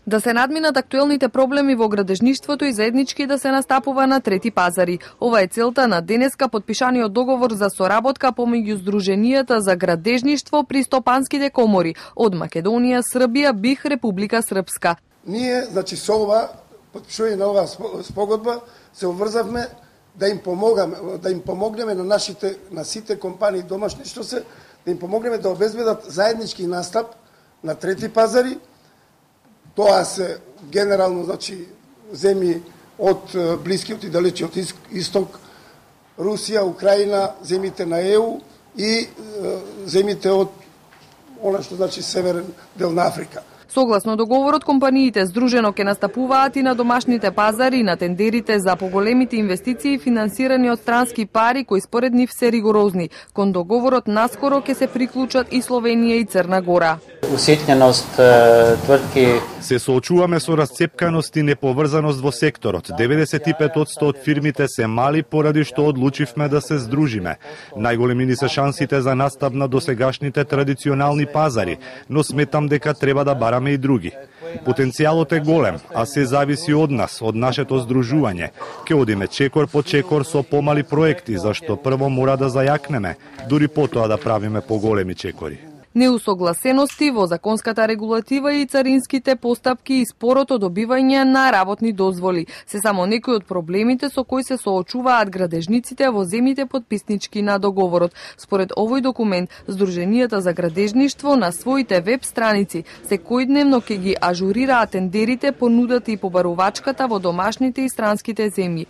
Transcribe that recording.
Да се надминат актуелните проблеми во градежништвото и заеднички да се настапува на трети пазари. Ова е целта на денеска подпишаниот договор за соработка помеѓу Сдруженијата за градежништво при стопанските комори од Македонија, Србија, БИХ, Република Српска. Ние, со ова подпишување на оваа спогодба се обврзавме да им помогнеме на сите компании домашни што се, да им помогнеме да обезбедат заеднички настап на трети пазари. Тоа се генерално, земји од Блискиот и Далечиот Исток, Русија, Украина, земјите на ЕУ и земјите од она што северен дел на Африка. Согласно договорот, компаниите здружено ќе настапуваат и на домашните пазари и на тендерите за поголемите инвестиции финансирани од странски пари кои според нив се ригорозни. Кон договорот наскоро ќе се приклучат и Словенија и Црна Гора. Уситненост твртки. Се соочуваме со расцепканост и неповрзаност во секторот. 95% од фирмите се мали поради што одлучивме да се здружиме. Најголеми ни се шансите за настап на досегашните традиционални пазари, но сметам дека треба да бараме и други. Потенцијалот е голем, а се зависи од нас, од нашето здружување. Ке одиме чекор по чекор со помали проекти, зашто прво мора да зајакнеме, дури потоа да правиме поголеми чекори. Неусогласености во законската регулатива и царинските постапки и спорото добивање на работни дозволи се само некои од проблемите со кои се соочуваат градежниците во земјите потписнички на договорот. Според овој документ, Сдруженијата за градежништво на своите веб страници секојдневно ќе ги ажурираат тендерите, понудата и побарувачката во домашните и странските земји.